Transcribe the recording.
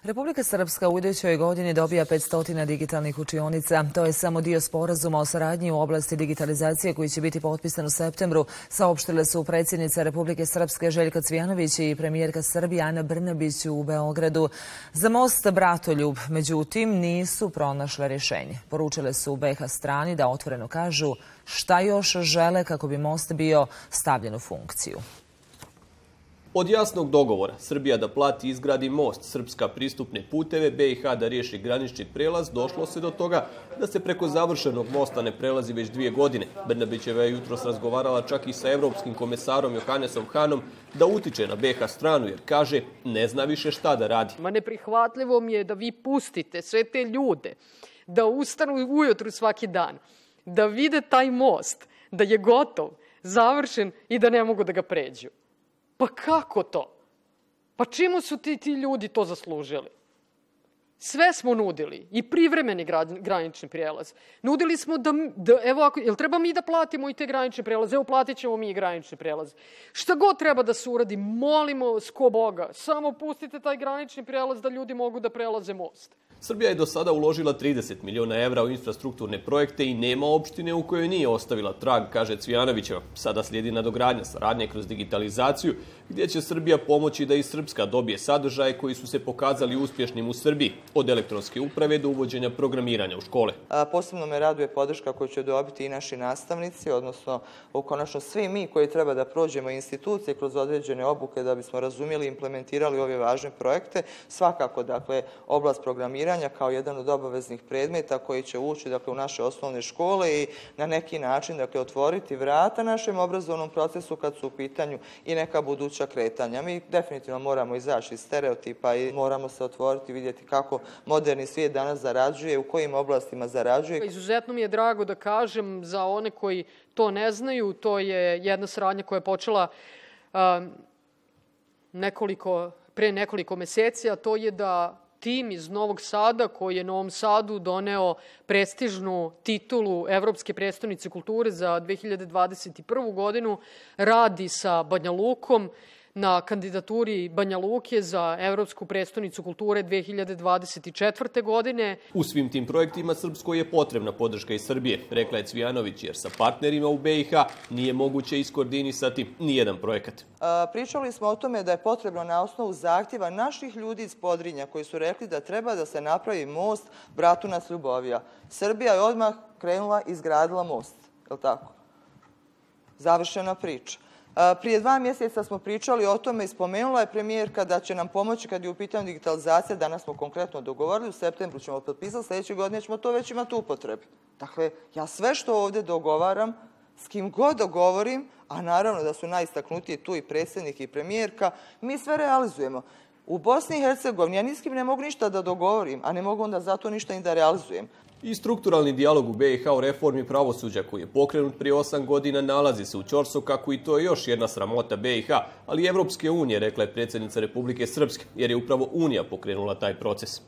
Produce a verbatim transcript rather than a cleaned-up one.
Republika Srpska u idućoj godini dobija petsto digitalnih učionica. To je samo dio sporazuma o saradnji u oblasti digitalizacije koji će biti potpisan u septembru, saopštile su predsjednica Republike Srpske Željka Cvijanović i premijerka Srbije Ana Brnabić u Beogradu. Za most Bratoljub, međutim, nisu pronašle rješenje. Poručile su be ha strani da otvoreno kažu šta još žele kako bi most bio stavljen u funkciju. Od jasnog dogovora Srbija da plati i izgradi most, Srpska pristupne puteve, be i ha da riješi granični prelaz, došlo se do toga da se preko završenog mosta ne prelazi već dvije godine. Brnabićeva je jutros razgovarala čak i sa evropskim komesarom Johannesom Hanom da utiče na be ha stranu jer kaže ne zna više šta da radi. Ma neprihvatljivo mi je da vi pustite sve te ljude da ustanu ujutru svaki dan, da vide taj most, da je gotov, završen i da ne mogu da ga pređu. Pa kako to? Pa čemu su ti, ti ljudi to zaslužili? Sve smo nudili, i privremeni granični prijelaz. Nudili smo da, da evo, ako, jel treba mi da platimo i te granične prijelaze? Evo, platit ćemo mi i granični prijelaz. Šta god treba da se uradi, molimo sko Boga, samo pustite taj granični prijelaz da ljudi mogu da prelaze most. Srbija je do sada uložila trideset miliona evra u infrastrukturne projekte i nema opštine u kojoj nije ostavila trag, kaže Cvijanovićeva. Sada slijedi nadogradnja saradnje kroz digitalizaciju, gdje će Srbija pomoći da i Srpska dobije sadržaje koji su se pokazali uspješnim u Srbiji, od elektronske uprave do uvođenja programiranja u škole. A, posebno me raduje podrška koju će dobiti i naši nastavnici, odnosno konačno svi mi koji treba da prođemo institucije kroz određene obuke da bismo razumjeli i implementirali ove važne projekte. Svakako, dakle, oblast programiranja kao jedan od obaveznih predmeta koji će ući dakle, u naše osnovne škole i na neki način dakle, otvoriti vrata našem obrazovnom procesu kad su u pitanju i neka buduća kretanja. Mi definitivno moramo izaći iz stereotipa i moramo se otvoriti i vidjeti kako moderni svijet danas zarađuje, u kojim oblastima zarađuje. Izuzetno mi je drago da kažem za one koji to ne znaju, to je jedna saradnja koja je počela um, nekoliko, pre nekoliko meseci, a to je da tim iz Novog Sada, koji je Novom Sadu doneo prestižnu titulu Evropske prestonice kulture za dve hiljade dvadeset prvu godinu, radi sa Banja Lukom na kandidaturi Banja Luke za Evropsku prestonicu kulture dve hiljade dvadeset četvrte godine. U svim tim projektima Srpskoj je potrebna podrška iz Srbije, rekla je Cvijanović, jer sa partnerima u be i ha nije moguće iskoordinisati nijedan projekat. A, pričali smo o tome da je potrebno na osnovu zahtjeva naših ljudi iz Podrinja koji su rekli da treba da se napravi most Bratunac-Ljubovija. Srbija je odmah krenula i izgradila most, je li tako? Završena priča. Prije dva mjeseca smo pričali o tome i spomenula je premijerka da će nam pomoći kad je u pitanju digitalizacija. Danas smo konkretno dogovorili, u septembru ćemo potpisati, sljedeće godine ćemo to već imati upotrebi. Dakle, ja sve što ovdje dogovaram, s kim god dogovorim, a naravno da su najistaknutiji tu i predsjednik i premijerka, mi sve realizujemo. U Bosni i Hercegovini ja ni s kim ne mogu ništa da dogovorim, a ne mogu onda zato ništa i da realizujem. I strukturalni dijalog u be i ha o reformi pravosuđa koji je pokrenut prije osam godina nalazi se u ćorsokaku i to je još jedna sramota be i ha, ali i Evropske unije, rekla je predsjednica Republike Srpske, jer je upravo Unija pokrenula taj proces.